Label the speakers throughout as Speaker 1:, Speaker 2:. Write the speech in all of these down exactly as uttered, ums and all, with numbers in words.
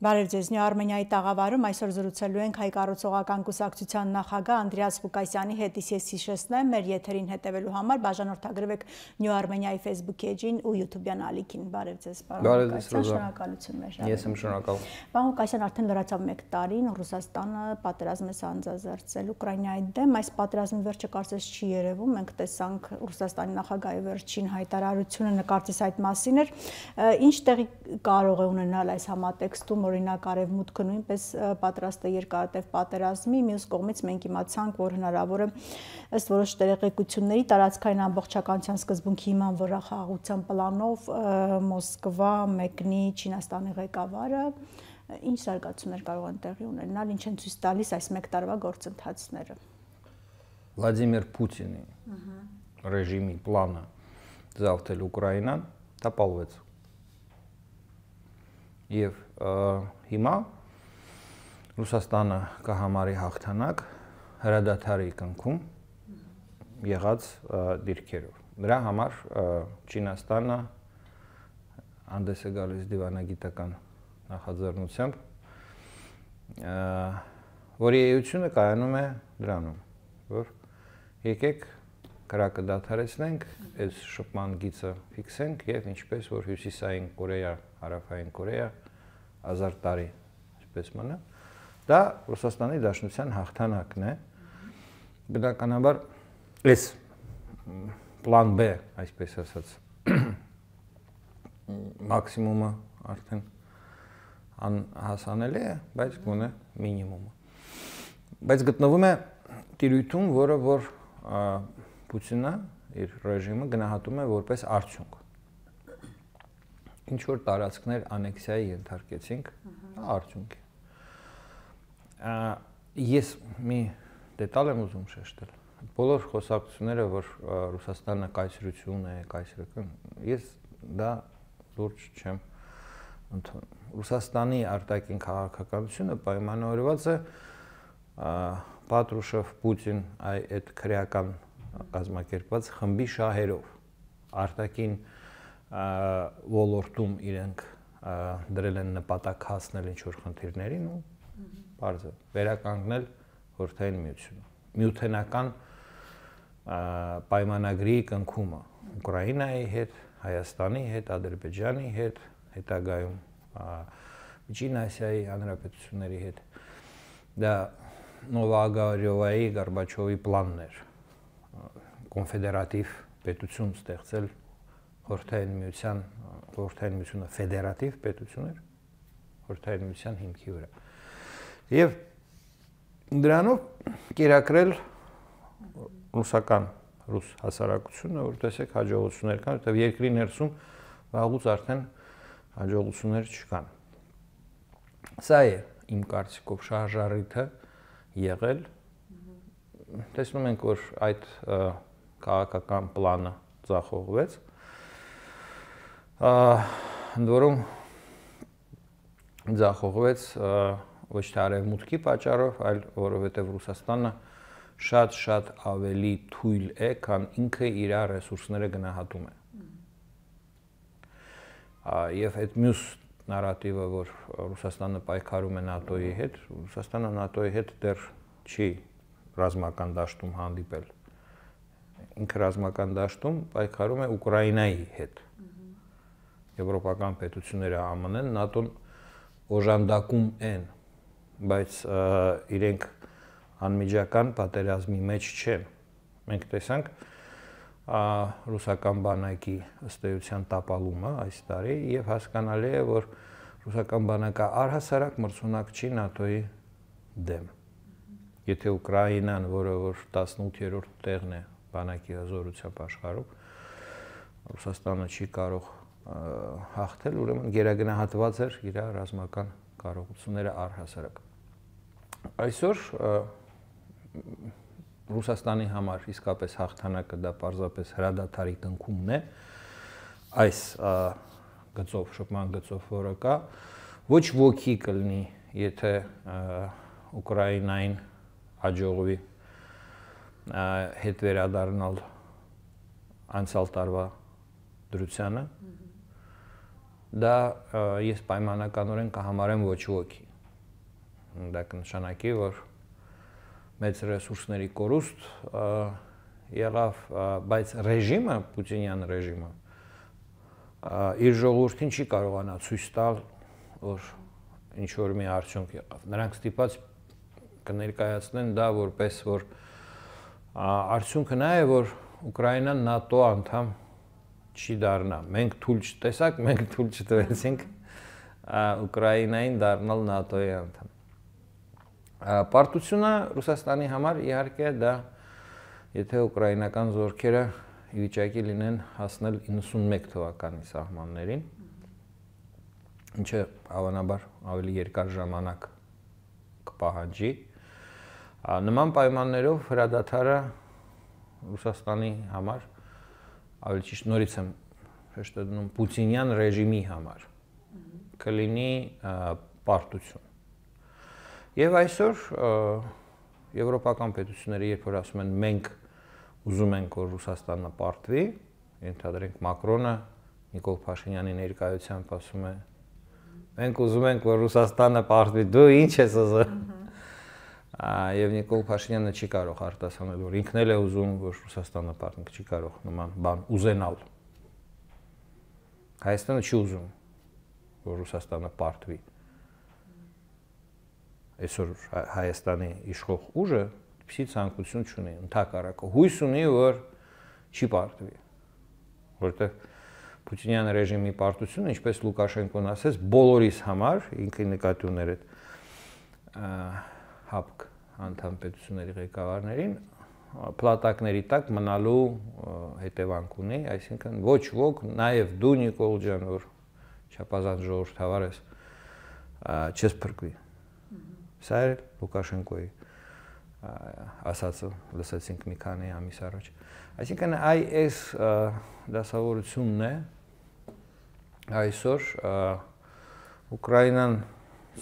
Speaker 1: Բարև ձեզ, Նյու Արմենիայի տաղավարում այսօր զրուցելու ենք հայ կառուցողական կուսակցության նախագահ Անդրեաս Ղուկասյանի հետ, ես հիշեցնեմ, մեր եթերին հետևելու համար բաժանորդագրվեք Նյու Արմենիայի Facebook էջին ու YouTube-յան ալիքին։ Բարև ձեզ, պարոն Ղուկասյան, շնորհակալություն մեր ժառանգության։
Speaker 2: Ես եմ շնորհակալ։
Speaker 1: Պարոն Ղուկասյան, արդեն լրացավ մեկ տարին, Ռուսաստանը պատերազմ է սանձազերծել Ուկրաինայի դեմ, այս պատերազմի վերջը կարծես չի երևում, մենք տեսանք Ռուսաստանի նախագահի վերջին հայտարարությունը, նկարծես այդ մասին էր, ինչ տեղի կարող է ունենալ այս համատեքստում, օրինակ Արևմուտքը նույնպես պատրաստ է երկարատև պատերազմի, մյուս կողմից մենք իմացանք, որ հնարավոր է ըստ որոշ տեղեկությունների տարածքային ամբողջականության սկզբունքի հիման վրա խաղաղության պլանով Մոսկվա մեկնի Չինաստանի ղեկավարը, ինչ զարգացումներ կարող են տեղի ունենալ, ինչ են ցույց տալիս այս մեկ տարվա գործընթացները։
Speaker 2: Վլադիմիր Պուտինի ռեժիմի պլանը զավթել Ուկրաինան տապալվեց։ Եվ հիմա Ռուսաստանը կհամարի հաղթանակ հրադադարի կնքում եղած դիրքերով։ Դրա համար Չինաստանը հանդես է գալիս դիվանագիտական նախաձեռնությամբ, որի էությունը կայանում է դրանում, որ եկեք կրակը դադարեցնենք, այս շփման գիծը ֆիքսենք եւ ինչպես որ Հյուսիսային Կորեա, Հարավային Կորեա հազար տարի այսպես մնա, դա Ռուսաստանի Դաշնության հաղթանակն է։ Բնականաբար այս պլան B, այսպես ասած, մաքսիմումը արդեն անհասանելի է, բայց գոնե մինիմումը։ Բայց գտնվում է տիրույթում, որը որ Պուտինը իր ռեժիմը գնահատում է որպես արդյունք։ Ինչ որ տարածքներ անեքսիայի ենթարկեցինք, արդյունք է։ Ես մի դետալ եմ ուզում շեշտել։ Բոլոր խոսակցությունները, որ Ռուսաստանը կայսրություն է, կայսրական, ես դա լուրջ չեմ ընդունում։ Ռուսաստանի արտաքին քաղաքականությունը պայմանավորված է Պատրուշև, Պուտին այդ քրեական կազմակերպված խմբի շահերով, արտաքին ոլորտում իրենք դրել են նպատակ հասնել ինչ-որ խնդիրներին ու բարձր վերականգնել Խորհրդային Միությունը։ Միութենական պայմանագրի կնքումը Ուկրաինայի հետ, Հայաստանի հետ, Ադրբեջանի հետ, հետագայում Միջին Ասիայի հանրապետությունների հետ։ Դա Նովագարյովայի, Գորբաչովի պլանն էր կոնֆեդերատիվ պետություն ստեղծել Խորհրդային Միության, Խորհրդային Միությունը ֆեդերատիվ պետություն էր Խորհրդային Միության հիմքի վրա։ Եվ դրանով կերակրել ռուսական ռուս հասարակությունը, որ տեսեք հաջողություններ կան, որտեղ երկրի ներսում վաղուց արդեն հաջողություններ չկան։ Սա է իմ կարծիքով շարժառիթը եղել։ Տեսնում ենք, որ այդ քաղաքական պլանը ձախողվեց, ընդ որում ձախողվեց ոչ թե Արևմուտքի պատճառով, այլ որովհետև Ռուսաստանը շատ-շատ ավելի թույլ է, քան ինքը իր ռեսուրսները գնահատում է։ Եվ այդ մյուս նարատիվը, որ Ռուսաստանը պայքարում է ՆԱՏՕ-ի հետ, Ռուսաստանը ՆԱՏՕ-ի հետ դեռ չի ռազմական դաշտում հանդիպել։ Ինքը ռազմական դաշտում պայքարում է Ուկրաինայի հետ։ Եվրոպական պետությունները ԱՄՆ-ն, ՆԱՏՕ-ն օժանդակում են, բայց իրենք անմիջական պատերազմի մեջ չեն։ Մենք տեսանք ռուսական բանակի ըստ էության տապալումը այս տարի եւ հասկանալի է, որ ռուսական բանակը առհասարակ մրցունակ չի ՆԱՏՕ-ի դեմ։ Եթե Ուկրաինան, որը որ տասնութերորդ տեղն է բանակի հզորությամբ աշխարհում, Ռուսաստանը չի կարող հաղթել, ուրեմն գերագնահատված էր իր ռազմական կարողությունները առհասարակ։ Այսօր Ռուսաստանի համար իսկապես հաղթանակը դա պարզապես հրադադարի կնքումն է, այս գծով, շփման գծով, որը կա, ոչ ոքի կլինի, եթե Ուկրաինային հաջողվի հետ վերադառնալ անցյալ տարվա դրությանը, դա ես պայմանականորեն կհամարեմ ոչ ոքի։ Դա կնշանակի, որ մեծ ռեսուրսների կորուստ եղավ, բայց ռեժիմը, Պուտինյան ռեժիմը իր ժողովրդին չի կարողանա ցույց տալ, որ ինչ որ մի արդյունք եղավ։ Նրանք ստիպած կներկայացնեն դա որպես որ արդյունքը նա է, որ Ուկրաինան ՆԱՏՕ անդամ չի դառնա։ Մենք թույլ չտեսակ, մենք թույլ չտվեցինք Ուկրաինային դառնալ ՆԱՏՕ-ի անդամ։ Պարտությունը Ռուսաստանի համար իհարկե դա, եթե ուկրաինական զորքերը ի վիճակի լինեն հասնել իննսունմեկ թվականի սահմաններին, ինչը հավանաբար ավելի երկար ժամանակ կպահանջի, նման պայմաններով հրադադարը Ռուսաստանի համար, ավելի ճիշտ նորից եմ հեշտ դնում Պուտինյան ռեժիմի համար, կլինի պարտություն։ Եվ այսօր եվրոպական պետությունները, երբ որ ասում են մենք ուզում ենք, որ Ռուսաստանը պարտվի, ենթադրենք Մակրոնը Նիկոլ Փաշինյանի ներկայությամբ ասում է մենք ուզում ենք, որ Ռուսաստանը պարտվի, դու ինչ ես ուզում։ Եվ Նիկոլ Փաշինյանը չի կարող արտասանել, որ ինքն էլ է ուզում, որ Ռուսաստանը պարտվի, չի կարող նման բան ուզենալ։ Հայաստանը չի ուզում, որ Ռուսաստանը պարտվի։ Այսօր Հայաստանի իշխող ուժը պիսի ցանկություն չունի, ընդհակառակը հույս ունի, որ չի պարտվի, որտեղ Պուտինյան ռեժիմի պարտությունը, ինչպես Լուկաշենկոն ասեց, բոլորիս համար, ինքը նկատի ուներ այդ ՀԱՊԿ անդամ պետությունների ղեկավարներին, պլատակների տակ մնալու հետևանք ունի, այսինքն ոչ ոք, նաև դու Նիկոլ ջան, որ չափազանց ժողովրդավար ես, չես փրկվի։ Սա է Լուկաշենկոյի ասածը լսեցինք մի քանի ամիս առաջ։ Այսինքն այս դասավորությունն է այսօր Ուկրաինան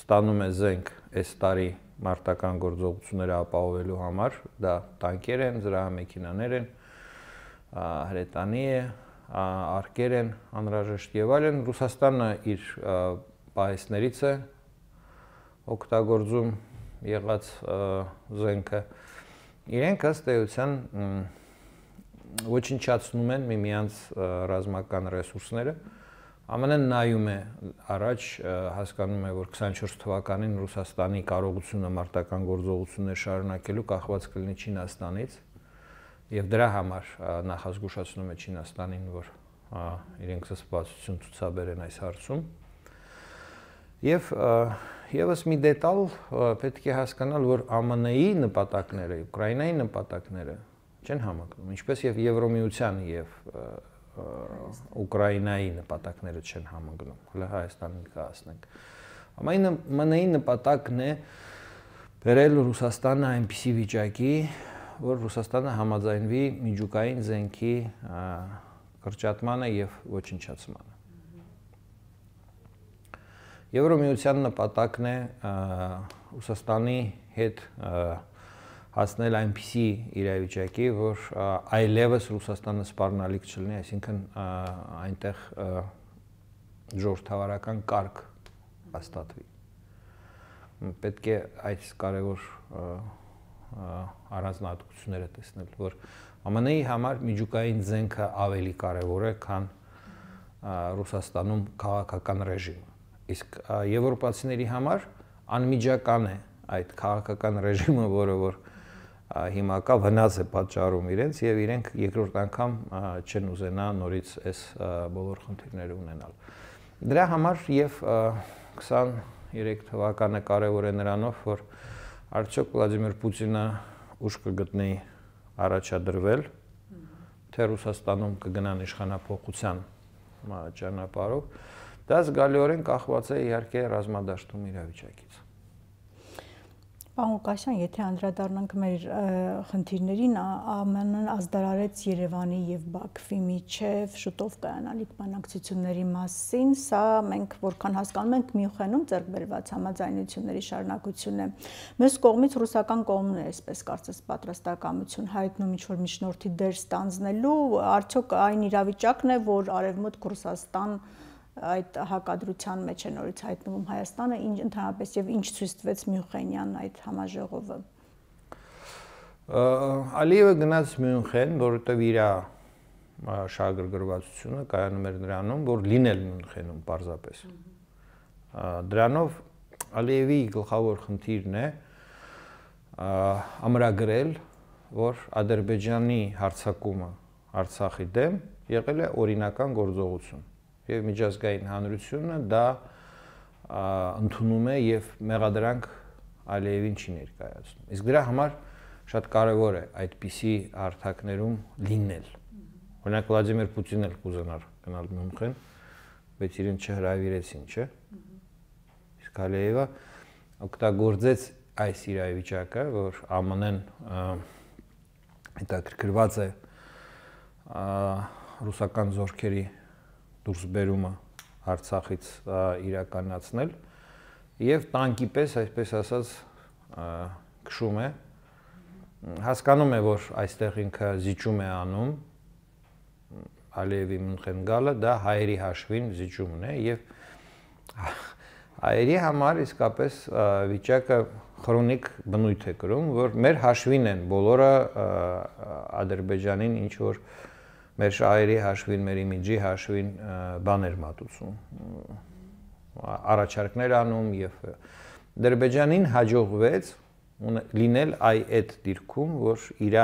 Speaker 2: ստանում է զենք այս տարի մարտական գործողությունները ապահովելու համար, դա տանկեր են, զրահամեքենաներ են, հրետանի է, արկեր են անհրաժեշտ եւ այլն։ Ռուսաստանը իր պահեստներից է օգտագործում եղած զենքը, իրենք ըստ էության ոչնչացնում են միմյանց ռազմական ռեսուրսները, ԱՄՆ-ն նայում է առաջ, հասկանում է, որ քսանչորս թվականին Ռուսաստանի կարողությունը մարտական գործողություններ շարունակելու կախված կլինի Չինաստանից, եւ դրա համար նախազգուշացնում է Չինաստանին, որ իրենք զսպվածություն ցուցաբերեն այս հարցում։ Եվ եւս մի դետալ պետք է հասկանալ, որ ԱՄՆ-ի նպատակները, Ուկրաինայի նպատակները չեն համընկնում, ինչպես եւ Եվրոմիության եւ Ուկրաինայի նպատակները չեն համընկնում։ Հələ Հայաստանին կհասնենք։ ԱՄՆ-ի նպատակն է բերել Ռուսաստանը այնպիսի վիճակի, որ Ռուսաստանը համաձայնվի միջուկային զենքի կրճատմանը եւ ոչնչացմանը։ Եվրոմիության նպատակն է Ռուսաստանի հետ հասնել այնպիսի իրավիճակի, որ այլևս Ռուսաստանը սպառնալիք չլինի, այսինքն այնտեղ ժողովրդավարական կարգ հաստատվի։ Պետք է այս կարևոր առանձնահատկությունները տեսնել, որ ԱՄՆ-ի համար միջուկային զենքը ավելի կարևոր է, քան Ռուսաստանում քաղաքական ռեժիմը։ Իսկ եվրոպացիների համար անմիջական է այդ քաղաքական ռեժիմը, որը որ հիմա կա վնաս է պատճառում իրենց եւ իրենք երկրորդ անգամ չեն ուզենա նորից այս բոլոր խնդիրները ունենալ։ Դրա համար եւ քսաներեք թվականը կարևոր է նրանով, որ արդյոք Վլադիմիր Պուտինը ուշ կգտնի առաջադրվել, թե Ռուսաստանում կգնան իշխանափոխության ճանապարհով, դա զգալիորեն կախված է իհարկե ռազմադաշտում իրավիճակից։
Speaker 1: Պարոն Ղուկասյան, եթե անդրադառնանք մեր խնդիրներին, ԱՄՆ-ն ազդարարեց Երևանի եւ Բաքվի միջև շուտով կայանալիք բանակցությունների մասին, սա մենք որքան հասկանում ենք Մյունխենում ձեռք բերված համաձայնությունների շարունակություն է։ Մյուս կողմից ռուսական կողմն է, այսպես կարծես, պատրաստակամություն հայտնում ինչ-որ միջնորդի դեր ստանձնելու, արդյոք այն իրավիճակն է, որ Արևմուտք Ռուսաստան այդ հակադրության մեջ է նորից հայտնվում Հայաստանը, ինչ ընդհանրապես եւ ինչ ցույց տվեց Մյունխենյան այդ համաժողովը։
Speaker 2: Ալիևը գնաց Մյունխեն, որովհետեւ իր շահագրգռվածությունը կայանում էր նրանում, որ լինել Մյունխենում պարզապես։ Դրանով Ալիևի գլխավոր խնդիրն է ամրագրել, որ Ադրբեջանի հարձակումը Արցախի դեմ եղել է օրինական գործողություն եւ միջազգային հանրությունը դա ընդունում է եւ մեղադրանք Ալիևին չի ներկայացնում։ Իսկ դրա համար շատ կարեւոր է այդպիսի հարթակներում լինել։ Օրինակ Վլադիմիր Պուտինն էլ կուզենար գնալ Մյունխեն, բայց իրեն չհրավիրեցին, չէ՞։ Իսկ Ալիևը օգտագործեց այս իրավիճակը, որ ԱՄՆ-ն հետաքրքրված է ռուսական զորքերի դուրսբերումը Արցախից իրականացնել եւ տանկի պես, այսպես ասած, քշում է, հասկանում է, որ այստեղ ինքը զիջում է անում, Ալիևի Մյունխեն գալը դա հայերի հաշվին զիջումն է եւ հայերի համար իսկապես վիճակը քրոնիկ բնույթ է կրում, որ մեր հաշվին են բոլորը Ադրբեջանին ինչ որ մեր շահերի հաշվին, մեր իմիջի հաշվին բաներ մատուցում, առաջարկներ անում եւ Ադրբեջանին հաջողվեց լինել այ այդ դիրքում, որ իր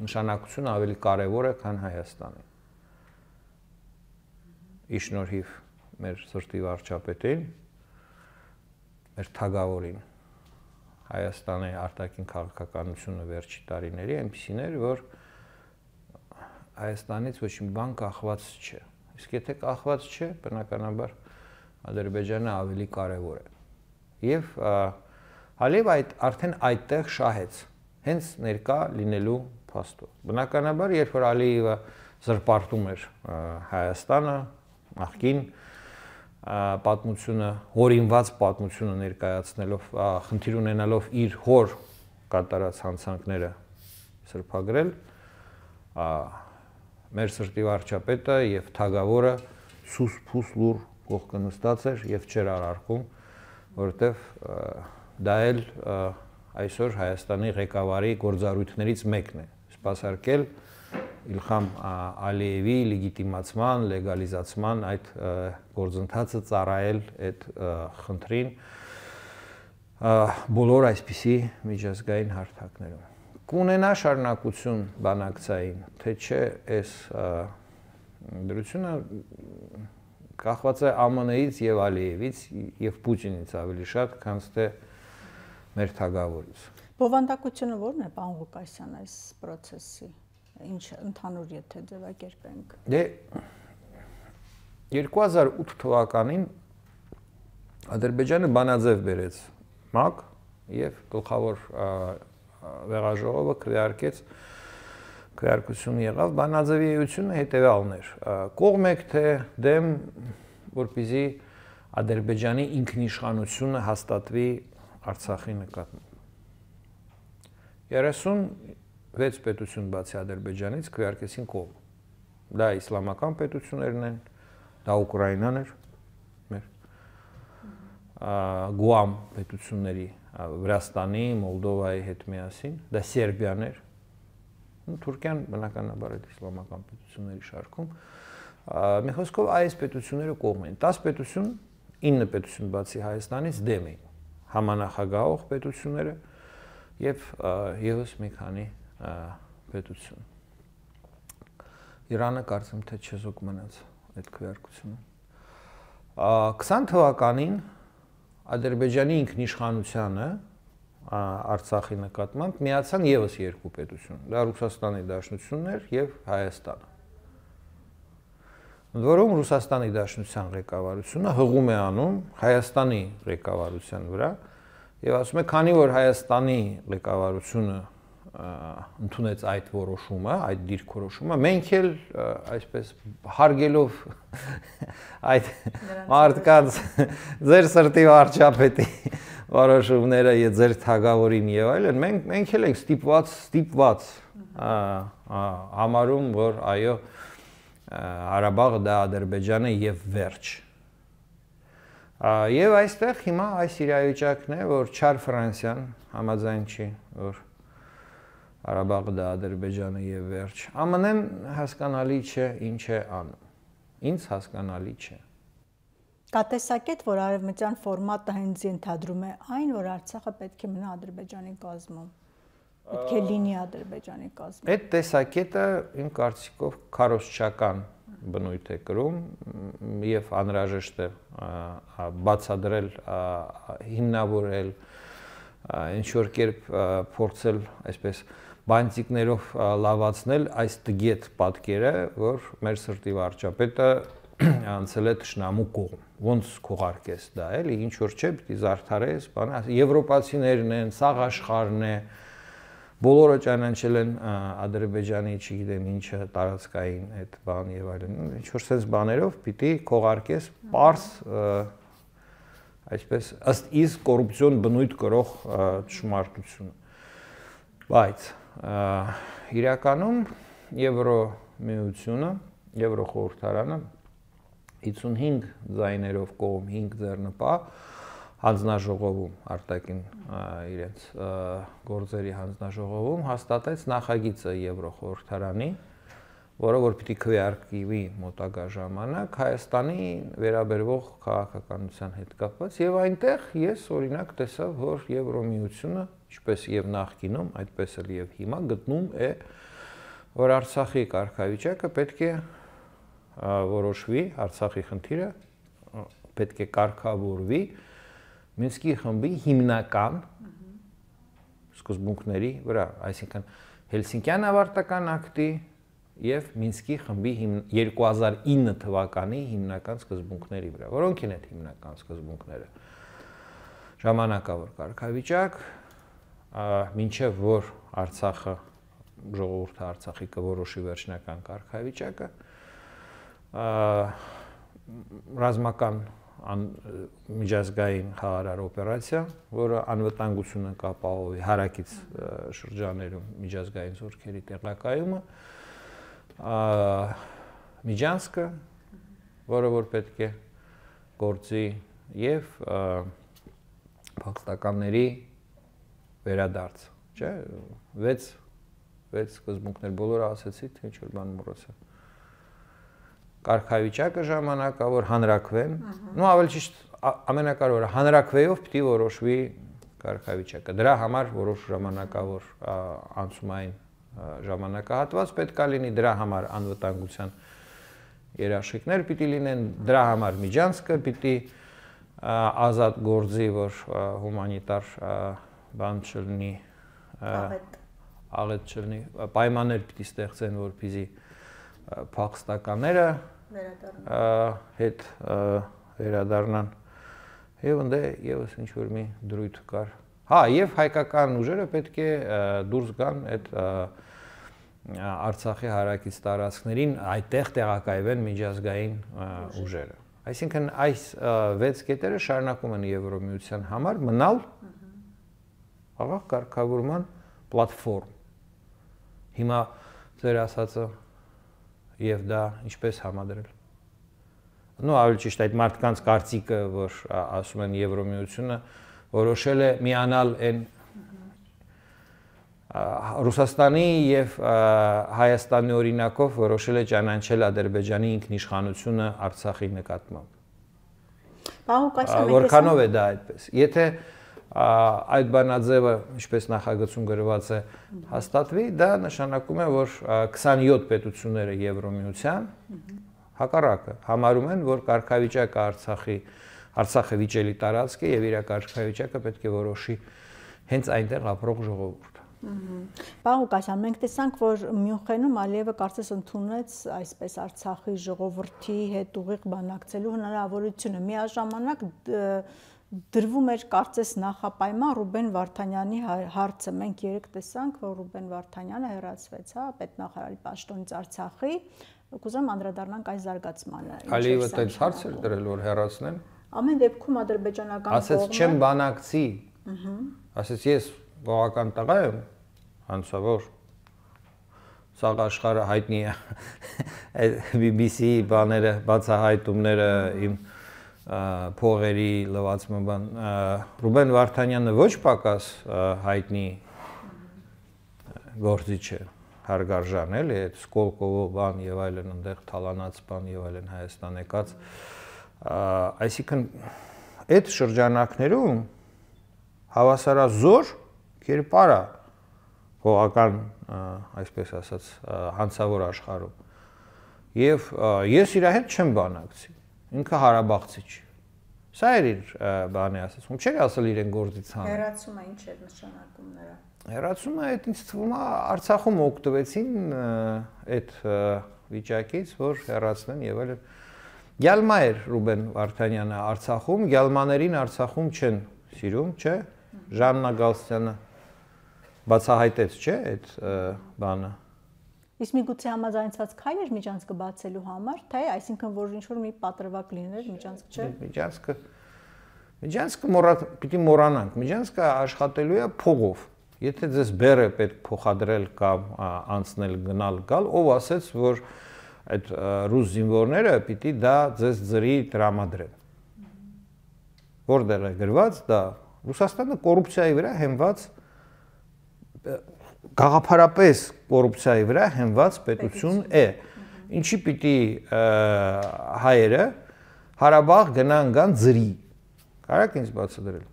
Speaker 2: նշանակությունը ավելի կարևոր է, քան Հայաստանի։ Ի շնորհիվ մեր սրտի վարչապետին, մեր թագավորին, Հայաստանի արտաքին քաղաքականությունը վերջի տարիների այնպիսին էր, որ Հայաստանից ոչ մի բան կախված չէ։ Իսկ եթե կախված չէ, բնականաբար Ադրբեջանը ավելի կարևոր է։ Եվ Ալիևը այդ արդեն այդտեղ շահեց, հենց ներկա լինելու փաստով։ Բնականաբար, երբ որ Ալիևը զրպարտում էր Հայաստանը, նախկին պատմությունը, հորինված պատմությունը ներկայացնելով, խնդիր ունենալով իր հոր կատարած հանցանքները սրբագրել, մեր սրտի վարչապետը եւ թագավորը սուս փուս լուր կողքը նստած էր եւ չէր արարքում, որովհետեւ դա էլ այսօր Հայաստանի ղեկավարի գործառույթներից մեկն է, սպասարկել Իլխամ Ալիևի լեգիտիմացման, լեգալիզացման այդ գործընթացը ծառայել այդ խնդրին բոլոր այսպիսի միջազգային հարթակներում։ Կունենա շարունակություն բանակցային, թե չէ այս դրությունը կախված է ԱՄՆ-ից եւ Ալիևից եւ Պուտինից ավելի շատ, քան թե մեր թագավորից։
Speaker 1: Բովանդակությունը ո՞րն է, պարոն Ղուկասյան, այս process-ի։ Ինչ ընդհանուր եթե ձևակերպենք։
Speaker 2: Դե երկու հազար ութ թվականին Ադրբեջանը բանաձև բերեց ՄԱԿ եւ գլխավոր վեղաժողովը քվեարկեց քվեարկություն եղավ բանաձևի էությունը հետեւյալն էր կողմ եք թե դեմ որպեսզի Ադրբեջանի ինքնիշխանությունը հաստատվի Արցախի նկատմամբ երեսուն վեց պետություն բացի Ադրբեջանից քվեարկեցին կողմ։ Դա իսլամական պետություններն են, դա Ուկրաինան էր, մեր Գուամ պետությունների, Վրաստանի, Մոլդովայի հետ միասին, դա Սերբիան էր։ Թուրքիան բնականաբար այդ իսլամական պետությունների շարքում։ Մի խոսքով այս պետությունները կողմ են։ տասը պետություն, ինը պետություն բացի Հայաստանից դեմ էին։ Համանախագահող պետությունները եւ եւս մի քանի պետություն։ Իրանը կարծում թե չեզոք մնաց այդ քվեարկությունը։ քսան թվականին Ադրբեջանի ինքնիշխանությանը Արցախի նկատմամբ միացան եւս երկու պետություն։ Դա Ռուսաստանի Դաշնությունն էր եւ Հայաստանը։ Ընդ որում Ռուսաստանի Դաշնության ղեկավարությունը հղում է անում Հայաստանի ղեկավարության վրա եւ ասում է, քանի որ Հայաստանի ղեկավարությունը ընդունեց այդ որոշումը, այդ դիրքորոշումը, մենք էլ այսպես հարգելով այդ մարդկանց ձեր սրտի վարչապետի որոշումները եւ ձեր թագավորին եւ այլն, մենք մենք էլ ենք ստիպված, ստիպված համարում, որ այո, Ղարաբաղը դա Ադրբեջանը եւ վերջ։ Եվ այստեղ հիմա այս իրավիճակն է, որ չար Ֆրանսիան համաձայն չի, որ Ղարաբաղը դա Ադրբեջանը եւ վերջ։ ԱՄՆ-ն հասկանալի չէ ինչ է անում։ Ինձ հասկանալի չէ։
Speaker 1: Կա տեսակետ, որ արևմտյան ֆորմատը հենց ենթադրում է այն, որ Արցախը պետք է մնա Ադրբեջանի կազմում։ Պետք է լինի Ադրբեջանի կազմում։
Speaker 2: Այդ տեսակետը իմ կարծիքով քարոզչական բնույթ է կրում եւ անհրաժեշտ է բացադրել, հիմնավորել, ինչ որ կերպ փորձել այսպես բանտիկներով լավացնել այս տգետ պատկերը, որ մեր սրտի վարչապետը անցել է թշնամու կողմ։ Ոնց քողարկես դա, էլի, ինչ որ չէ, պիտի զարդարես, բանը, եվրոպացիներն են, սաղ աշխարհն է, բոլորը ճանաչել են Ադրբեջանի, չգիտեմ ինչը, տարածքային այդ բան եւ այլն, ինչ որ sense բաներով պիտի քողարկես պարս այսպես ըստ իս կոռուպցիոն բնույթ կրող ճշմարտությունը։ Բայց իրականում Եվրոմիությունը, Եվրոխորհրդարանը հիսունհինգ ձայներով կողմ հինգ ձեռնպա հանձնաժողովում արտաքին իրենց գործերի հանձնաժողովում հաստատեց նախագիծը Եվրոխորհրդարանի, որը որ պիտի քվեարկվի մոտակա ժամանակ Հայաստանի վերաբերվող քաղաքականության հետ կապված եւ այնտեղ ես օրինակ տեսա, որ Եվրոմիությունը, ինչպես եւ նախկինում, այդպես էլ եւ հիմա գտնում է, որ Արցախի կարգավիճակը պետք է որոշվի, Արցախի խնդիրը պետք է կարգավորվի Մինսկի խմբի հիմնական սկզբունքների վրա, այսինքն Հելսինկյան ավարտական ակտի եւ Մինսկի խմբի երկու հազար ինը թվականի հիմնական սկզբունքների վրա, որոնք են այդ հիմնական սկզբունքները։ Ժամանակավոր կարգավիճակ, մինչեւ որ Արցախը ժողովուրդը Արցախի կորոշի վերջնական կարգավիճակը, ռազմական միջազգային խաղարար օպերացիա, որը անվտանգությունը կապահովի հարակից շրջաներում միջազգային զորքերի տեղակայումը, Միջանցքը, որը որ պետք է գործի եւ փախստականների վերադարձ, չէ՞, վեց վեց սկզբունքներ բոլորը ասեցի, թե ինչ որ բան մոռացա։ Կարգավիճակը ժամանակավոր հանրակրվեն, նո ավելի ճիշտ ամենակարևորը հանրակրվեով պիտի որոշվի կարգավիճակը։ Դրա համար որոշ ժամանակավոր անցումային ժամանակահատված պետք է լինի, դրա համար անվտանգության երաշխիքներ պիտի լինեն, դրա համար Միջանցքը պիտի ազատ գործի, որ հումանիտար բան չլինի, աղետ չլինի, պայմաններ պիտի ստեղծեն, որպեսզի փախստականները հետ վերադառնան եւ ընդ եւս ինչ որ մի դրույթ կար։ Հա, եւ հայկական ուժերը պետք է դուրս գան այդ Արցախի հարակից տարածքներին, այդտեղ տեղակայվեն միջազգային ուժերը։ Այսինքն այս վեց կետերը շարունակում են Եվրոմիության համար մնալ աղաղ կարգավորման պլատֆորմ։ Հիմա ձեր ասածը եւ դա ինչպես համադրել։ Նո, ավելի ճիշտ այդ մարդկանց կարծիքը, որ ասում են Եվրոմիությունը որոշել է միանալ այն Ռուսաստանի եւ Հայաստանի օրինակով որոշել է ճանաչել Ադրբեջանի ինքնիշխանությունը Արցախի նկատմամբ։ Որքանով է դա այդպես։ Եթե այդ բանաձևը, ինչպես նախագծում գրված է, հաստատվի, դա նշանակում է, որ քսանյոթ պետությունները Եվրոմիության հակառակը համարում են, որ կարգավիճակը Արցախի Արցախը վիճելի տարածք է եւ իր կարգավիճակը պետք է որոշի հենց այնտեղ ապրող ժողովուրդը։
Speaker 1: Պարոն Ղուկասյան, մենք տեսանք, որ Մյունխենում Ալիևը կարծես ընդունեց այսպես Արցախի ժողովրդի հետ ուղիղ բանակցելու հնարավորությունը։ Միաժամանակ դրվում էր կարծես նախապայման Ռուբեն Վարդանյանի հարցը։ Մենք երեք տեսանք, որ Ռուբեն Վարդանյանը հեռացվեց, հա, պետնախարարի պաշտոնից Արցախի։ Կուզեմ անդրադառնանք այս զարգացմանը։
Speaker 2: Ալիևը այդպես հարց էր դրել, որ հեռացնեն։
Speaker 1: Ամեն դեպքում ադրբեջանական կողմը
Speaker 2: ասեց չեմ բանակցի։ Ասեց ես բողական տղա եմ, հանցավոր, սաղ աշխարհը հայտնի է B B C բաները, բացահայտումները իմ փողերի լվացման բան Ռուբեն Վարդանյանը ոչ պակաս հայտնի գործիչ է հարգարժան էլի այդ Սկոլկովո բան եւ այլն այնտեղ թալանած բան եւ այլն Հայաստան եկած այսինքն այդ շրջանակներում հավասարազոր կերպարա փողական այսպես ասած հանցավոր աշխարհում եւ ես իր հետ չեմ բանակցի ինքը հարաբաղցի չի սա էր իր բանի ասացում չէր ասել իրեն գործից հան
Speaker 1: հեռացումը ինչ էր նշանակում նրա
Speaker 2: հեռացումը այդ ինձ թվում է Արցախում օգտվեցին այդ վիճակից որ հեռացնեն եւ այլն Գյալմա էր Ռուբեն Վարդանյանը Արցախում գյալմաներին Արցախում չեն սիրում չէ Ժաննա Գալստյանը բացահայտեց չէ այդ բանը
Speaker 1: Իսկ միգուցե համաձայնված քայլ էր միջանցքը բացելու համար, թե այսինքն որ ինչ որ մի պատրվակ լիներ միջանցք չէ։
Speaker 2: Միջանցքը Միջանցքը մոռա պիտի մոռանանք։ Միջանցքը աշխատելու է փողով։ Եթե ձեզ բերը պետք փոխադրել կամ անցնել գնալ գալ, ով ասեց, որ այդ ռուս զինվորները պիտի դա ձեզ ծրի տրամադրեն։ Որտեղ է գրված դա Ռուսաստանը կոռուպցիայի վրա հենված գաղափարապես կոռուպցիայի վրա հենված պետություն է։ Ինչի պիտի հայերը Հարաբաղ գնան գան ծրի։ Կարաք ինձ բացատրել։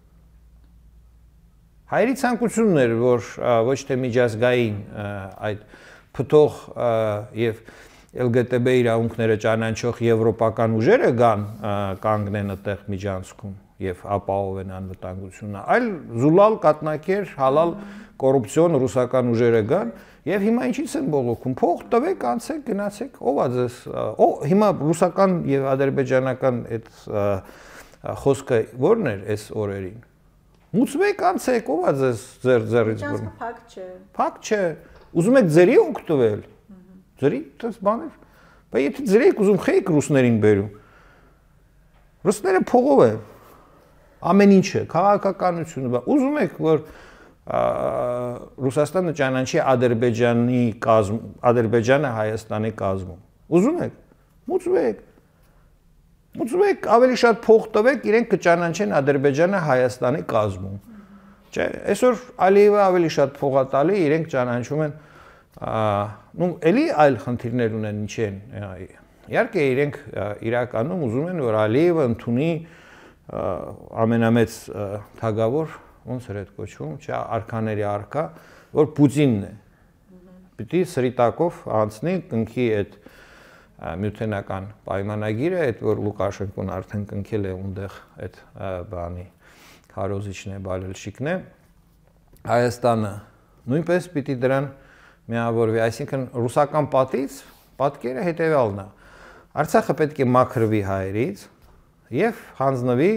Speaker 2: Հայերի ցանկությունն էր, որ ոչ թե միջազգային այդ փթող եւ L G T B իրավունքները ճանաչող եվրոպական ուժերը գան կանգնեն այդտեղ միջանցքում եւ ապահովեն անվտանգությունը, այլ զուլալ կատնակեր, հալալ կոռուպցիոն ռուսական ուժերը գան եւ հիմա ինչից են բողոքում, փող տվեք, անցեք, գնացեք, ով է ձեզ, ո հիմա ռուսական եւ ադրբեջանական այդ խոսքը ո՞րն էր այս օրերին։ Մուծվեք, անցեք, ով է ձեզ ձեր ձեռից բռնում։
Speaker 1: Փակ չէ։
Speaker 2: Փակ չէ։ Ուզում եք ձերի օգտվել։ Ձերի դες բաներ։ Բայց եթե ձերեք ուզում խեյք ռուսներին բերում։ Ռուսները փողով է։ Ամեն ինչը, քաղաքականությունը, ուզում եք որ Ռուսաստանը ճանաչի Ադրբեջանի կազմ, Ադրբեջանը Հայաստանի կազմում։ Ուզում եք, մուծվեք։ Մուծվեք, ավելի շատ փող տվեք, իրենք կճանաչեն Ադրբեջանը Հայաստանի կազմում։ Չէ, այսօր Ալիևը ավելի շատ փող է տալի, իրենք ճանաչում են, նու էլի այլ խնդիրներ ունեն ինչ են։ Իհարկե իրենք իրականում ուզում են որ Ալիևը ընդունի ամենամեծ թագավոր ոնց էր այդ կոչվում, չէ, արքաների արքա, որ Պուտինն է։ Պիտի սրիտակով անցնի կնքի այդ միութենական պայմանագիրը, այդ որ Լուկաշենկոն արդեն կնքել է ունդեղ այդ բանի քարոզիչն է, բալելշիկն է։ Հայաստանը նույնպես պիտի դրան միավորվի, այսինքն ռուսական պատից պատկերը հետևյալն է։ Արցախը պետք է մաքրվի հայերից եւ հանձնվի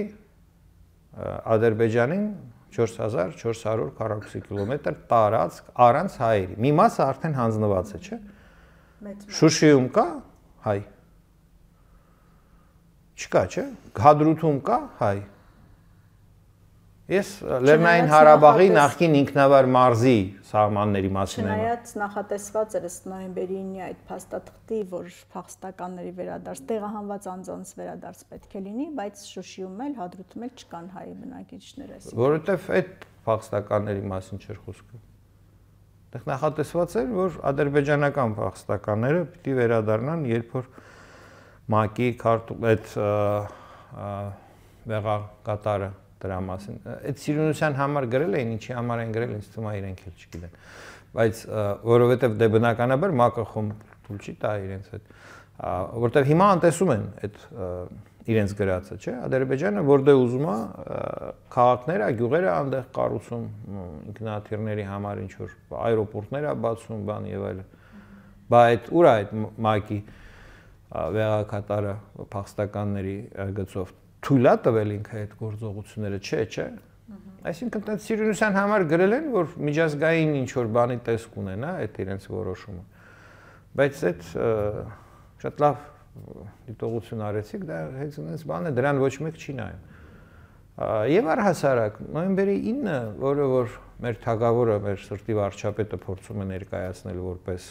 Speaker 2: Ադրբեջանին չորս հազար չորս հարյուր քառակուսի կիլոմետր տարածք առանց հայերի։ Մի մասը արդեն հանձնված է, չէ՞։ Շուշիում կա հայ։ Չկա, չէ՞։ Հադրութում կա հայ։ Ես Լեռնային Հարաբաղի նախկին ինքնավար մարզի սահմանների մասին եմ։
Speaker 1: Չնայած նախատեսված էր ըստ նոյեմբերի այդ փաստաթղթի, որ փախստականների վերադարձ, տեղահանված անձանց վերադարձ պետք է լինի, բայց Շուշիում էլ, Հադրութում էլ չկան հայ բնակիչներ այս։
Speaker 2: Որովհետև այդ փախստականների մասին չէր խոսքը։ Այդտեղ նախատեսված էր, որ ադրբեջանական փախստականները պիտի վերադառնան, երբ որ ՄԱԿ-ի այդ վեղա կատարը դրա մասին։ Այդ սիրունության համար գրել էին, ինչի համար են գրել, ինձ թվում է իրենք էլ չգիտեն։ Բայց որովհետև դե բնականաբար ՄԱԿ-ը խոմ թույլ չի տա իրենց այդ, որտեղ հիմա անտեսում են այդ իրենց գրածը, չէ՞։ Ադրբեջանը որտեղ ուզում է քաղաքներ, գյուղերը այնտեղ կառուցում, ինքնաթիռների համար ինչ որ աերոպորտներ է բացում, բան եւ այլն։ Բայց ուր է այդ ՄԱԿ-ի վեղակատարը փախստականների գծով թույլ է տվել ինքը այդ գործողությունները, չէ, չէ։ Այսինքն այդ սիրունության համար գրել են, որ միջազգային ինչ որ բանի տեսք ունենա այդ իրենց որոշումը։ Բայց այդ շատ լավ դիտողություն արեցիք, դա հենց այնպես բան է, դրան ոչ մեկ չի նայում։ Եվ առհասարակ նոյեմբերի ինը, որը որ մեր թագավորը, մեր սրտի վարչապետը փորձում է ներկայացնել որպես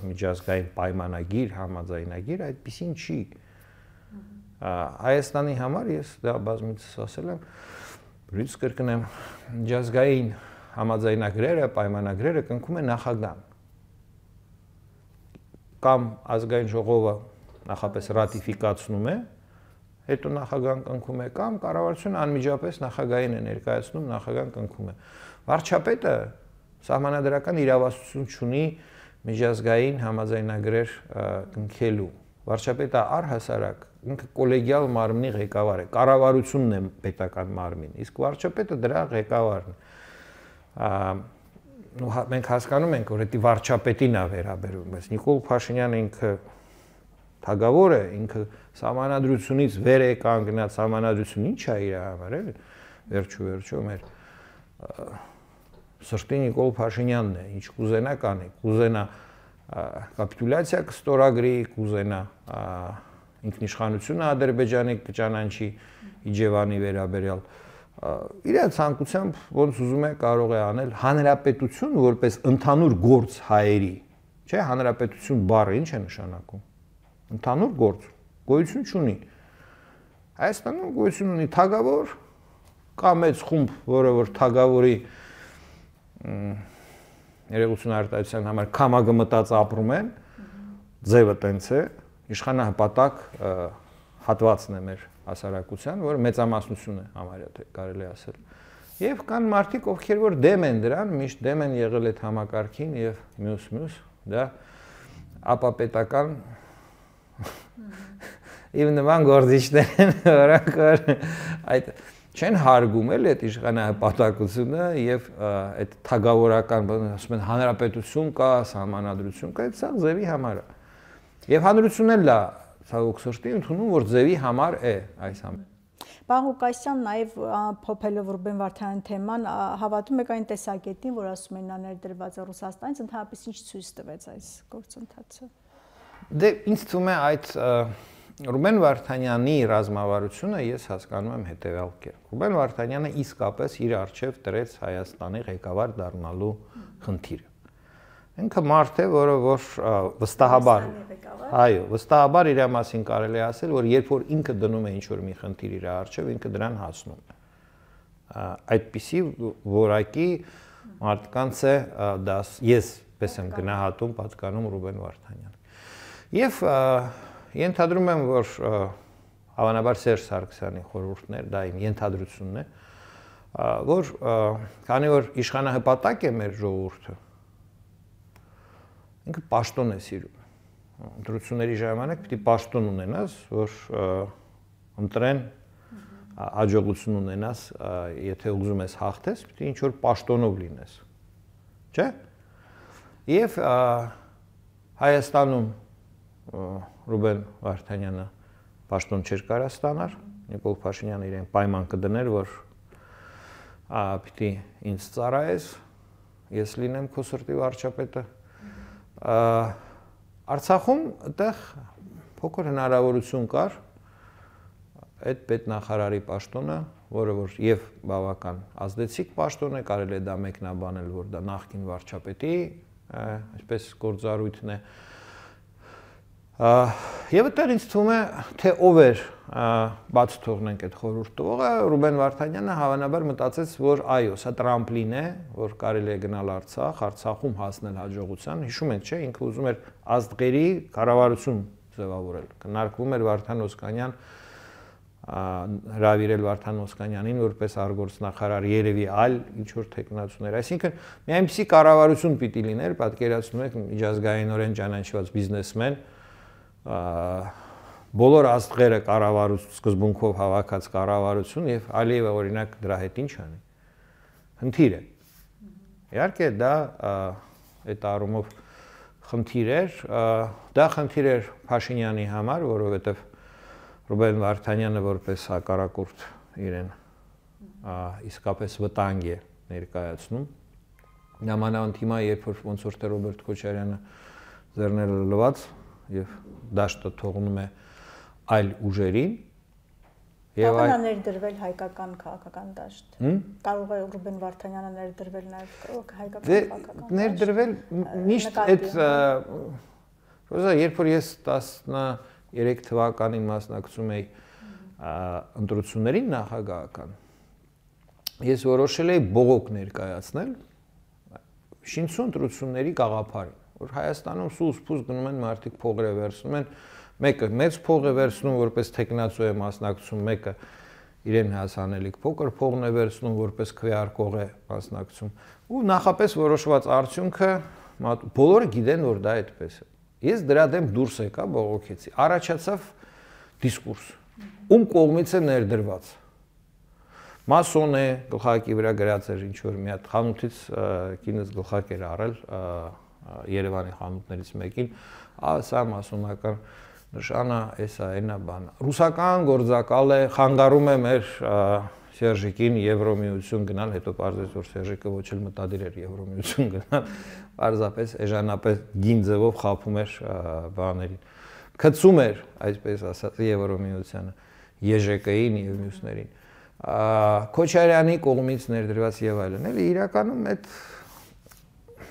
Speaker 2: միջազգային պայմանագիր, համաձայնագիր, այդպեսին չի։ Հայաստանի համար ես դա բազմիցս ասել եմ, բրից կրկնեմ, միջազգային համաձայնագրերը, պայմանագրերը կնքում է նախագահան։ Կամ ազգային ժողովը նախապես ռատիֆիկացնում է, հետո նախագահան կնքում է, կամ կառավարությունը անմիջապես նախագահին է ներկայացնում, նախագահան կնքում է։ Վարչապետը սահմանադրական իրավասություն չունի միջազգային համաձայնագրեր կնքելու։ Վարչապետը առհասարակ ինքը կոլեգիալ մարմնի ղեկավար է, կառավարությունն է պետական մարմին, իսկ վարչապետը դրա ղեկավարն է։ Մենք հասկանում ենք, որ դա վարչապետին է վերաբերում, բայց Նիկոլ Փաշինյանը ինքը թագավոր է, ինքը սահմանադրությունից վեր է կանգնած, սահմանադրությունը ինչ է իր համար, էլի, վերջու վերջո մեր սրտի Նիկոլ Փաշինյանն է, ինչ կուզենա կանի, կուզենա կապիտուլյացիա կստորագրի, կուզենա ինքնիշխանությունը Ադրբեջանի կճանաչի Իջևանի վերաբերյալ, իր ցանկությամբ ոնց ուզում է կարող է անել հանրապետություն որպես ընդհանուր գործ հայերի, չէ, հանրապետություն բառը ինչ է նշանակում։ Ընդհանուր գործ, գոյություն չունի։ Հայաստանում գոյություն ունի թագավոր, կա մեծ խումբ, որը որ թագավորի երևույթուն արտահայտության համար քամագմտած ապրում են, ձևը տենց է, իշխանահպատակ հատվածն է մեր հասարակության, որը մեծամասնություն է համարյա թե կարելի ասել։ Եվ կան մարդիկ, ովքեր որ դեմ են դրան, միշտ դեմ են եղել այդ համակարգին եւ մյուս-մյուս, դա ապապետական Իվ նման գործիչներ են, որոնք այդ չեն հարգում էլ այդ իշխանահպատակությունը եւ այդ թագավորական բանը, ասում են հանրապետություն կա, սահմանադրություն կա, այդ սա ձևի համար է։ Եվ հանրությունն էլ է, ցավոք սրտի, ընդունում, որ ձևի համար է այս համը։
Speaker 1: Պարոն Ղուկասյան, նաև փոփելով Ռուբեն Վարդանյանի թեման, հավատում եք այն տեսակետին, որ ասում են նա ներդրված է Ռուսաստանից, ընդհանրապես ինչ ցույց տվեց այս գործընթացը։
Speaker 2: Դե ինձ թվում է այդ Ռուբեն Վարդանյանի ռազմավարությունը ես հասկանում եմ հետևյալ կերպ։ Ռուբեն Վարդանյանը իսկապես իր առջև դրեց Հայաստանի ղեկավար դառնալու խնդիրը։ Ինքը մարդ է, որը որ վստահաբար, այո, վստահաբար իր մասին կարելի ասել, որ երբ որ ինքը դնում է ինչ-որ մի խնդիր իր առջև, ինքը դրան հասնում է։ Այդպիսի որակի մարդկանց է դա ես պես եմ գնահատում, պատկանում Ռուբեն Վարդանյանին։ Եվ ենթադրում եմ, որ հավանաբար Սերժ Սարգսյանի խորհուրդներ, դա իմ ենթադրությունն է, որ քանի որ իշխանահպատակ է մեր ժողովուրդը, ինքը պաշտոն է սիրում։ Ընտրությունների ժամանակ պիտի պաշտոն ունենաս, որ ընտրեն հաջողություն ունենաս, եթե ուզում ես հաղթես, պիտի ինչ-որ պաշտոնով լինես, չէ՞։ Եվ Հայաստանում Ռուբեն Վարդանյանը պաշտոն չէր կարա ստանար, Նիկոլ Փաշինյանը իրեն պայման կդներ, որ պիտի ինձ ծառայես, ես լինեմ քո սրտի վարչապետը։ Արցախում այդտեղ փոքր հնարավորություն կար այդ պետնախարարի պաշտոնը, որը որ եւ բավական ազդեցիկ պաշտոն է, կարելի է դա մեկնաբանել, որ դա նախկին վարչապետի, այսպես գործառույթն է։ Եվ այդտեղ ինձ թվում է, թե ով էր բաց թողնենք այդ խորհուրդ տվողը, Ռուբեն Վարդանյանը հավանաբար մտածեց, որ այո, սա տրամպլին է, որ կարելի է գնալ Արցախ, Արցախում հասնել հաջողության։ Հիշում եք, չէ, ինքը ուզում էր ազգերի կառավարություն ձևավորել։ Քննարկվում էր Վարդան Օսկանյան հրավիրել Վարդան Օսկանյանին որպես արտգործնախարար, երևի այլ ինչ որ տեխնացուներ։ Այսինքն մի այնպիսի կառավարություն պիտի լիներ, պատկերացնում եք միջազգայինորեն ճանաչված բիզնեսմեն, բոլոր աստղերը կառավարություն սկզբունքով հավաքած կառավարություն եւ Ալիևը օրինակ դրա հետ ինչ անի։ Խնդիր է։ Իհարկե դա այդ առումով խնդիր էր, դա խնդիր էր Փաշինյանի համար, որովհետեւ Ռուբեն Վարդանյանը որպես հակառակորդ իրեն իսկապես վտանգ է ներկայացնում։ Նամանավանդ հիմա երբ որ ոնց որ թե Ռոբերտ Քոչարյանը ձեռները լված եւ դաշտը թողնում է այլ ուժերին
Speaker 1: Կարող է ներդրվել հայկական քաղաքական դաշտ։ Կարող է Ռուբեն Վարդանյանը ներդրվել նաև հայկական քաղաքական դաշտ։
Speaker 2: Ներդրվել միշտ այդ Ռոզա, երբ որ ես տասներեք թվականին մասնակցում էի ընտրություններին նախագահական, ես որոշել էի բողոք ներկայացնել շինություն ընտրությունների գաղափարին, որ Հայաստանում սուս-փուս գնում են մարդիկ փողերը վերցնում են, մեկը մեծ փող է վերցնում, որպես տեխնացու է մասնակցում, մեկը իրեն հասանելիք փոքր փողն է վերցնում, որպես քվեարկող է մասնակցում, ու նախապես որոշված արդյունքը բոլորը գիտեն, որ դա այդպես է։ Ես դրա դեմ դուրս եկա, բողոքեցի, առաջացավ դիսկուրս, ում կողմից է ներդրված։ Մասոն է, գլխարկի վրա գրած էր ինչ-որ մի հատ խանութից կինս գլխարկ էր առել Երևանի խանութներից մեկին, սա մասոնական նշանա, էսա, այնա բանը։ Ռուսական գործակալ է, խանգարում է մեր Սերժիկին Եվրոմիություն գնալ, հետո պարզեց, որ Սերժիկը ոչ էլ մտադիր էր Եվրոմիություն գնալ, պարզապես էժանապես գին ձևով խափում էր բաներին։ Քցում էր, այսպես ասած, Եվրոմիությանը, ԵԺԿ-ին եւ մյուսներին։ Քոչարյանի կողմից ներդրված եւ այլն, էլի իրականում այդ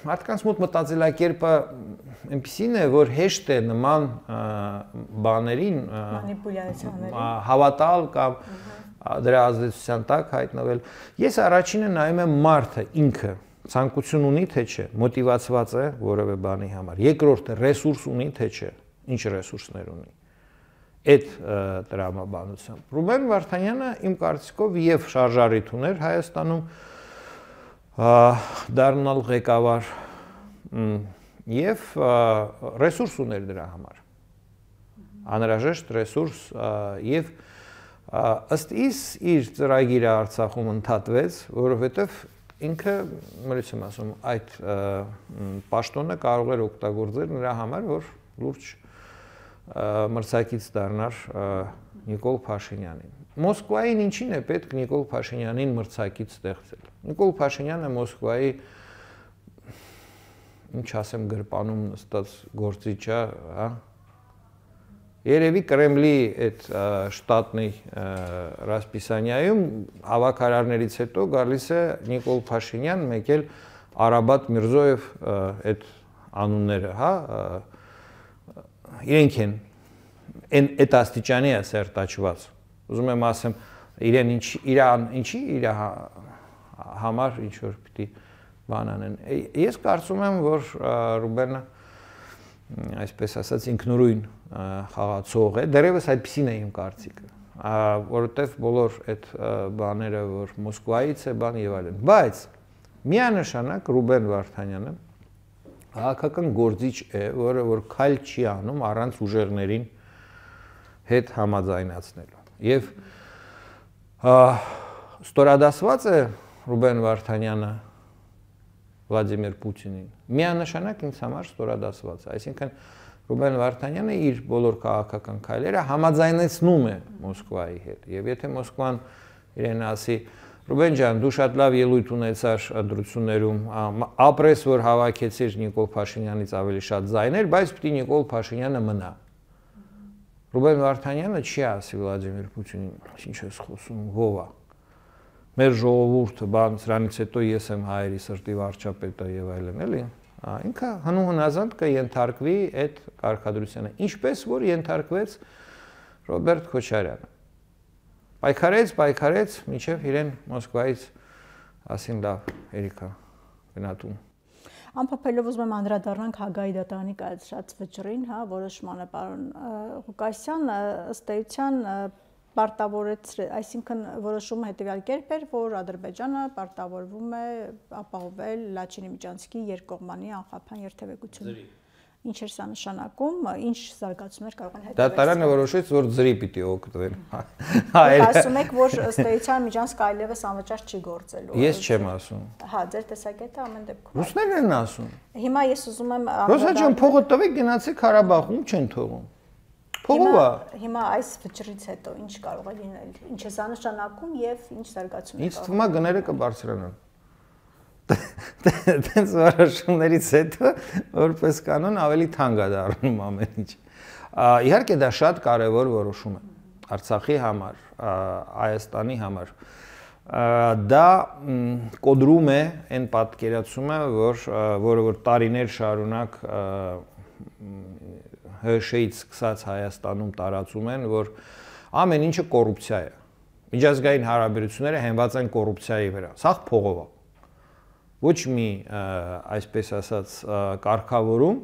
Speaker 2: մարդկանց մոտ մտածելակերպը այնպեսին է, որ հեշտ է նման բաներին
Speaker 1: մանիպուլյացիաների
Speaker 2: հավատալ կամ դրա ազդեցության տակ հայտնվել։ Ես առաջինը նայում եմ մարդը ինքը ցանկություն ունի թե չէ, մոտիվացված է որևէ բանի համար։ Երկրորդը ռեսուրս ունի թե չէ, ինչ ռեսուրսներ ունի։ Այդ տրամաբանությամբ Ռուբեն Վարդանյանը իմ կարծիքով եւ շարժարիթ ուներ Հայաստանում դառնալ ղեկավար եւ ռեսուրս ուներ դրա համար։ Անհրաժեշտ ռեսուրս եւ ըստ իս իր ծրագիրը Արցախում ընդհատվեց, որովհետեւ ինքը, մրից եմ ասում, այդ պաշտոնը կարող էր օգտագործել նրա համար, որ լուրջ մրցակից դառնար Նիկոլ Փաշինյանին։ Մոսկվային ինչին է պետք Նիկոլ Փաշինյանին մրցակից ստեղծել։ Նիկոլ Փաշինյանը Մոսկվայի, ինչ ասեմ, գրպանում նստած գործիչ է, հա։ Երևի Կրեմլի այդ շտատնի Ռասպիսանյայում հավաքարարներից հետո գալիս է Նիկոլ Փաշինյան, մեկ էլ Արաբատ Միրզոև այդ անունները, հա, իրենք են այդ աստիճանի է սերտաճված։ Ուզում եմ ասեմ, իրեն ինչ իրան ինչի իր համար ինչ որ պիտի բան անեն։ Ես կարծում եմ, որ Ռուբենը այսպես ասած ինքնուրույն խաղացող է, դեռևս այդպեսին է իմ կարծիքը, որովհետև բոլոր այդ բաները, որ Մոսկվայից է բան եւ այլն, բայց միանշանակ Ռուբեն Վարդանյանը քաղաքական գործիչ է, որը որ քայլ չի անում առանց ուժերներին հետ համաձայնացնելու։ Եվ ստորադասված է Ռուբեն Վարդանյանը Վլադիմիր Պուտինին։ Միանշանակ ինձ համար ստորադասված է, այսինքն Ռուբեն Վարդանյանը իր բոլոր քաղաքական քայլերը համաձայնեցնում է Մոսկվայի հետ։ Եվ եթե Մոսկվան իրեն ասի, Ռուբեն ջան, դու շատ լավ ելույթ ունեցար ընտրություններում, ապրես, որ հավաքեցիր Նիկոլ Փաշինյանից ավելի շատ ձայներ, բայց պիտի Նիկոլ Փաշինյանը մնա։ Ռուբեն Վարդանյանը չի ասի Վլադիմիր Պուտինին, ինչ ես խոսում, ով է։ Մեր ժողովուրդը, բան, սրանից հետո ես եմ հայերի սրտի վարչապետը եւ այլն, էլի։ Ինքը հնուհնազանդ կենթարկվի այդ կարգադրությանը, ինչպես որ ենթարկվեց Ռոբերտ Քոչարյանը։ Պայքարեց, պայքարեց, մինչև իրեն Մոսկվայից ասին լավ, երիքա, գնատում։
Speaker 1: Անփոփելով ուզում եմ անդրադառնանք Հագայի դատարանի կայացրած վճռին, հա, որոշմանը պարոն Ղուկասյան, ըստ էության պարտավորեց, այսինքն որոշումը հետևյալ կերպ էր, որ Ադրբեջանը պարտավորվում է ապահովել Լաչինի Միջանցքի երկկողմանի անխափան երթևեկությունը։ Ինչ էր սա նշանակում, ինչ զարգացումներ կարող են հետևել։
Speaker 2: Դատարանը որոշեց, որ ձրի պիտի օգտվեն։
Speaker 1: Ասում եք, որ ըստ էության Միջանցքը այլևս անվճար չի գործելու։
Speaker 2: Ես չեմ ասում։
Speaker 1: Հա, ձեր տեսակետը ամեն դեպքում։
Speaker 2: Ռուսներն են ասում։
Speaker 1: Հիմա ես ուզում եմ
Speaker 2: Ռոսա ջան, փողը տվեք, գնացեք Ղարաբաղ, ում չեն թողում։ Փողով է։
Speaker 1: Հիմա այս վճռից հետո ինչ կարող է լինել։ Ինչ է սա նշանակում եւ ինչ զարգացումներ։
Speaker 2: Ինչ թվում է գները կբարձրանան։ Դենց որոշումներից հետո որպես կանոն ավելի թանկ է դառնում ամեն ինչ։ Իհարկե դա շատ կարևոր որոշում է։ Արցախի համար, Հայաստանի համար դա կոդրում է այն պատկերացումը, որ որը որ տարիներ շարունակ ՀՇ-ից սկսած Հայաստանում տարածում են, որ ամեն ինչը կոռուպցիա է։ Միջազգային հարաբերությունները հենված են կոռուպցիայի վրա։ Սա փողով է։ Ոչ մի այսպես ասած կարգավորում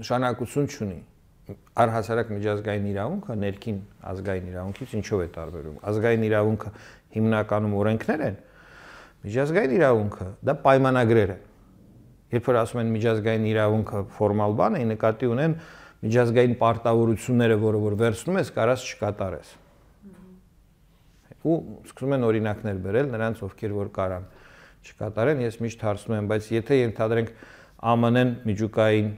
Speaker 2: նշանակություն չունի։ Առհասարակ միջազգային իրավունքը ներքին ազգային իրավունքից ինչով է տարբերվում։ Ազգային իրավունքը հիմնականում օրենքներ են, միջազգային իրավունքը դա պայմանագրեր են։ Երբ որ ասում են միջազգային իրավունքը ֆորմալ բան է, նկատի ունեն միջազգային պարտավորությունները, որը որ վերցնում ես, կարաս չկատարես։ Ու սկսում են օրինակներ բերել նրանց, ովքեր որ կարան չկատարեն, ես միշտ հարցնում եմ, բայց եթե ենթադրենք ԱՄՆ-ն միջուկային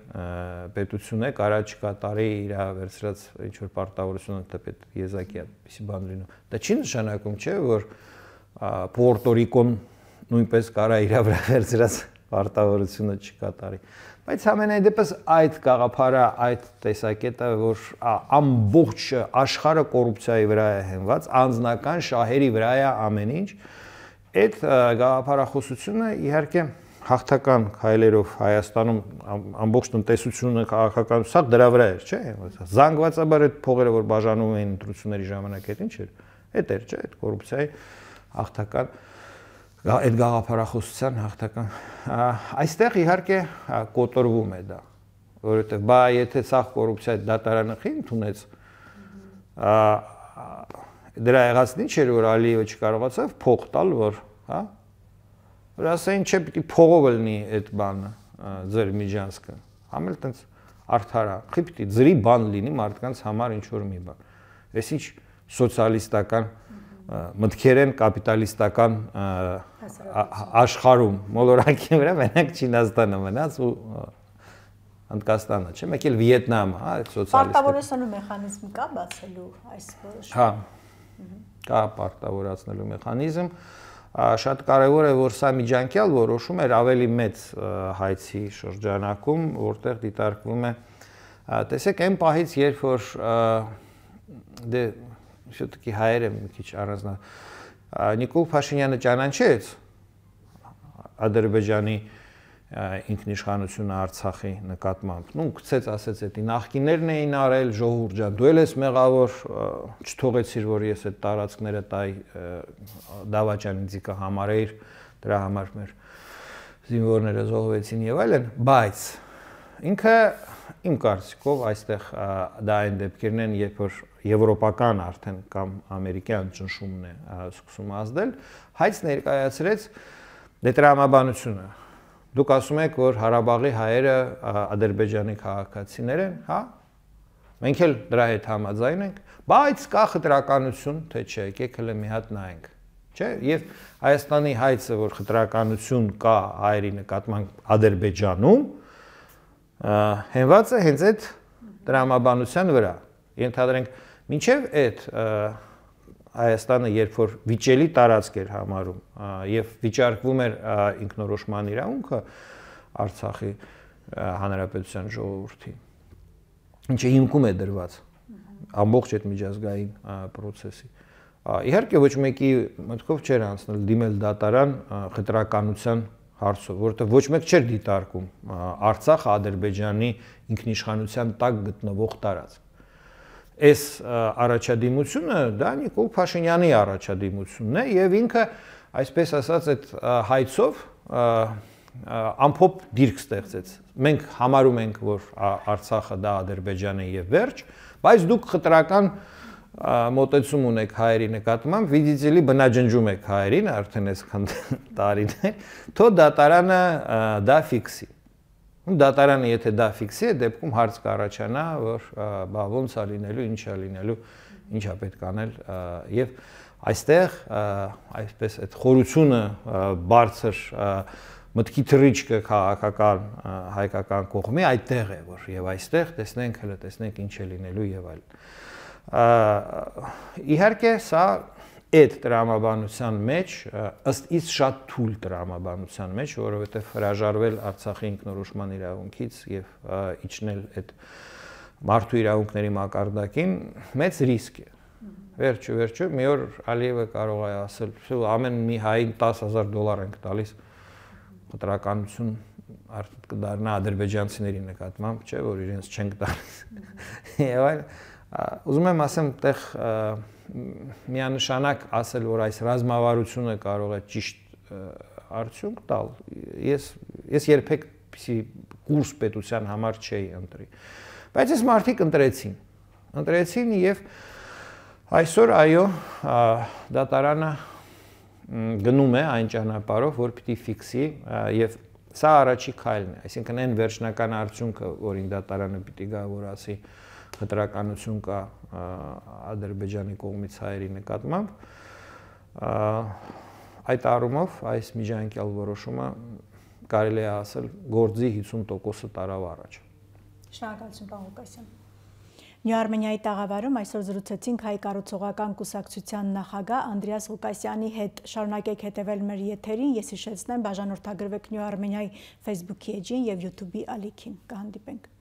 Speaker 2: պետություն է, կարա չկատարի իր վերցրած ինչ-որ պարտավորությունը, թեպետ եզակի այդպիսի բան լինում։ Դա չի նշանակում, չէ, որ Պուերտո Ռիկոն նույնպես կարա իր վրա վերցրած պարտավորությունը չկատարի։ Բայց ամենայն դեպս այդ գաղափարը, այդ տեսակետը, որ ամբողջ աշխարհը կոռուպցիայի վրա է հենված, անձնական շահերի վրա է ամեն ինչ, այդ գաղափարախոսությունը իհարկե հաղթական քայլերով Հայաստանում ամբողջ տնտեսությունը, քաղաքականությունը սա դրա վրա էր, չէ՞։ Զանգվածաբար այդ փողերը, որ բաժանում էին ընտրությունների ժամանակ, այդ ինչ էր։ Այդ էր, չէ՞, այդ կոռուպցիայի հաղթական այդ գաղափարախոսության հաղթական։ Այստեղ իհարկե կոտրվում է դա, որովհետև բա եթե սա կոռուպցիայի դատարանը խի ընդունեց, դրա եղածն ինչ էր, որ Ալիևը չկարողացավ փող տալ, որ, հա, որ ասային, չէ, պիտի փողով լինի այդ բանը, ձեր միջանցքը, համ էլ տենց արդար է, խի պիտի ձրի բան լինի մարդկանց համար ինչ-որ մի բան։ Այս ինչ սոցիալիստական մտքեր են կապիտալիստական աշխարհում, մոլորակի վրա մենակ Չինաստանը մնաց ու Հնդկաստանը, չէ՞, մեկ էլ Վիետնամը, հա, սոցիալիստը։
Speaker 1: Պարտավորեցնելու մեխանիզմ կա բացելու այս որոշումը։
Speaker 2: Հա, կա պարտավորացնելու մեխանիզմ, շատ կարևոր է, որ սա միջանկյալ որոշում էր ավելի մեծ հայցի շրջանակում, որտեղ դիտարկվում է, տեսեք, այն պահից, երբ որ դե все-таки հայերը մի քիչ առանձնա Նիկոլ Փաշինյանը ճանաչեց Ադրբեջանի ինքնիշխանությունը Արցախի նկատմամբ։ Նու գցեց, ասեց, էդի նախկիներն էին արել, ժողովուրդ ջան, դու ես մեղավոր, չթողեցիր, որ ես այդ տարածքները տայ դավաճանիցիկա համարեիր, դրա համար մեր զինվորները զոհվեցին եւ այլն, բայց ինքը իմ կարծիքով այստեղ դա այն դեպքերն են, երբ որ եվրոպական արդեն կամ ամերիկյան ճնշումն է սկսում ազդել, հայց ներկայացրեց դետրամաբանությունը։ Դուք ասում եք, որ Հարաբաղի հայերը Ադրբեջանի քաղաքացիներ են, հա? Մենք էլ դրա հետ համաձայն ենք, բայց կա խտրականություն, թե չէ, եկեք հələ մի հատ նայենք, չէ՞։ Եվ Հայաստանի հայցը, որ խտրականություն կա հայերի նկատմամբ Ադրբեջանում, հենված է հենց այդ դրամաբանության վրա։ Ենթադրենք, մինչև այդ Հայաստանը, երբ որ վիճելի տարածք էր համարում եւ վիճարկվում էր ինքնորոշման իրավունքը Արցախի հանրապետության ժողովրդի, ինչը հիմքում է դրված ամբողջ այդ միջազգային process-ի։ Իհարկե ոչ մեկի մտքով չէր անցնել դիմել դատարան խտրականության հարցով, որովհետեւ ոչ մեկ չէր դիտարկում Արցախը Ադրբեջանի ինքնիշխանության տակ գտնվող տարածք։ Այս առաջադիմությունը դա Նիկոլ Փաշինյանի առաջադիմությունն է եւ ինքը այսպես ասած այդ հայցով ամփոփ դիրք ստեղծեց։ Մենք համարում ենք, որ Արցախը դա Ադրբեջան է եւ վերջ, բայց դուք խտրական մոտեցում ունեք հայերի նկատմամբ, վիդիցելի բնաջնջում եք հայերին արդեն այսքան տարիներ, թո դատարանը դա ֆիքսի։ Դատարանը եթե դա ֆիքսի է, դեպքում հարց կառաջանա, որ բա ոնց է լինելու, ինչ է լինելու, ինչ է պետք անել եւ այստեղ այսպես այդ խորությունը բարձր մտքի թռիչքը քաղաքական հայկական կողմի այդտեղ է, որ եւ այստեղ տեսնենք, հələ տեսնենք ինչ է լինելու եւ այլն։ Իհարկե սա այդ տրամաբանության մեջ ըստ իս շատ թույլ տրամաբանության մեջ, որովհետև հրաժարվել Արցախի ինքնորոշման իրավունքից եւ իջնել այդ մարդու իրավունքների մակարդակին մեծ ռիսկ է։ Վերջը վերջը մի օր Ալիևը կարող է ասել, ամեն մի հային տասը հազար դոլար ենք տալիս խտրականություն կդառնա ադրբեջանցիների նկատմամբ, չէ, որ իրենց չենք տալիս։ Եվ այլ ուզում եմ ասեմ, այդտեղ միանշանակ ասել, որ այս ռազմավարությունը կարող է ճիշտ արդյունք տալ։ Ես ես երբեք պիսի կուրս պետության համար չէի ընտրի։ Բայց այս մարդիկ ընտրեցին։ Ընտրեցին եւ այսօր այո, դատարանը գնում է այն ճանապարհով, որ պիտի ֆիքսի եւ սա առաջի քայլն է, այսինքն այն վերջնական արդյունքը, որին դատարանը պիտի գա, որ ասի խտրականություն կա Ադրբեջանի կողմից հայերի նկատմամբ, այդ առումով այս միջանկյալ որոշումը կարելի է ասել գործի հիսուն տոկոսը տարավ առաջ։
Speaker 1: Շնորհակալություն, պարոն Ղուկասյան։ Նյու-Արմենիայի տաղավարում այսօր զրուցեցինք Հայ կառուցողական կուսակցության նախագահ Անդրեաս Ղուկասյանի հետ։ Շարունակեք հետևել մեր եթերին, ես հիշեցնեմ, բաժանորդագրվեք Նյու-Արմենիայի Facebook-ի էջին եւ YouTube-ի ալիքին։ Կհանդիպենք։